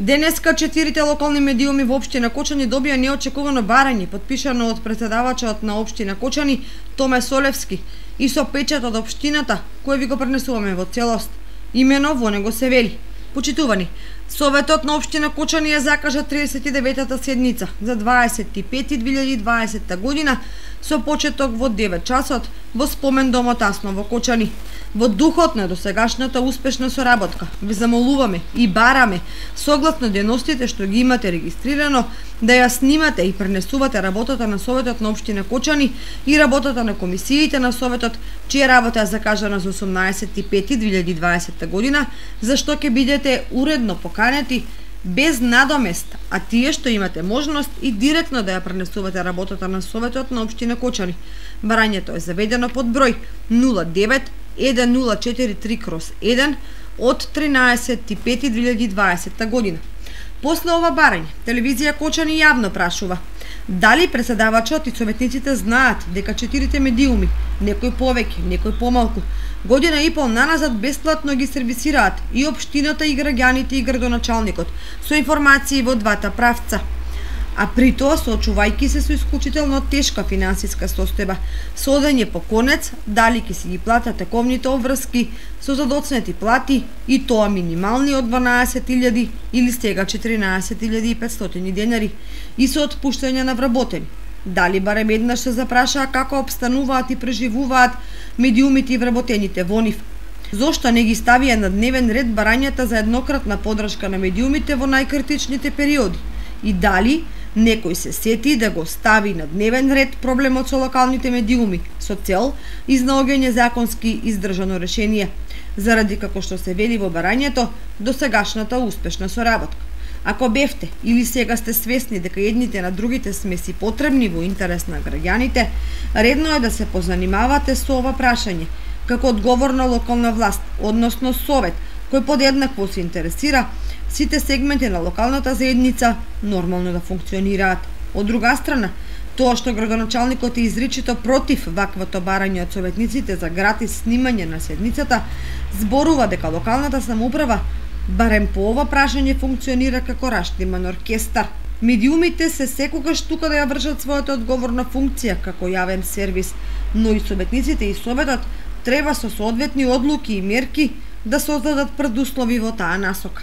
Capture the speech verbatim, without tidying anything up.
Денеска четирите локални медиуми во општина Кочани добија неочекувано барање, подпишано од претседавачот на општина Кочани Томе Солевски и со печат од општината, кој ви го пренесуваме во целост. Имено во него се вели: почитувани, Советот на општина Кочани ја закажа триесет и деветата седница за дваесет и пети две илјади и дваесетта година со почеток во девет часот во спомен домот Асно во Кочани. Во духот на досегашната успешна соработка, ви замолуваме и бараме, согласно дејностите што ги имате регистрирано, да ја снимате и пренесувате работата на Советот на општина Кочани и работата на комисиите на Советот, чија работа е закажана за осумнаесет и пети две илјади и дваесетта година, за што ќе бидете уредно поканети без надомест, а тие што имате можност и директно да ја пренесувате работата на Советот на општина Кочани. Барањето е заведено под број нула девет еден нула четири три еден од тринаесет и пети две илјади и дваесетта година. После ова барање, телевизија Кочани јавно прашува дали претседавачот и советниците знаат дека четирите медиуми, некој повеќе, некој помалку, година и пол наназад бесплатно ги сервисираат и општината и граѓаните и градоначалникот со информации во двата правца. А при тоа, соочувајќи се со исклучително тешка финансиска состојба, со одење по конец, дали ќе си ги платат тековните обврски со задоцнети плати и тоа минимални од дванаесет илјади или сега четиринаесет илјади и петстотини денари и со отпуштање на вработени. Дали барем еднаш се запрашаа како обстануваат и преживуваат медиумите и вработените во нив? Зошто не ги ставија на дневен ред барањата за еднократна подршка на медиумите во најкритичните периоди? И дали некој се сети да го стави на дневен ред проблемот со локалните медиуми со цел изнаоѓање законски издржано решение, заради како што се вели во барањето досегашната успешна соработка. Ако бевте или сега сте свесни дека едните на другите сме си потребни во интерес на граѓаните, редно е да се позанимавате со ова прашање, како одговорна локална власт, односно совет, кој подеднакво се интересира сите сегменти на локалната заедница нормално да функционираат. Од друга страна, тоа што градоначалникот е изричито против ваквото барање од советниците за гратис снимање на седницата, зборува дека локалната самоуправа барем по ова прашање функционира како раштиман оркестар. Медиумите се секогаш тука да ја вршат својата одговорна функција како јавен сервис, но и советниците и советот треба со соодветни одлуки и мерки да создадат предуслови во таа насока.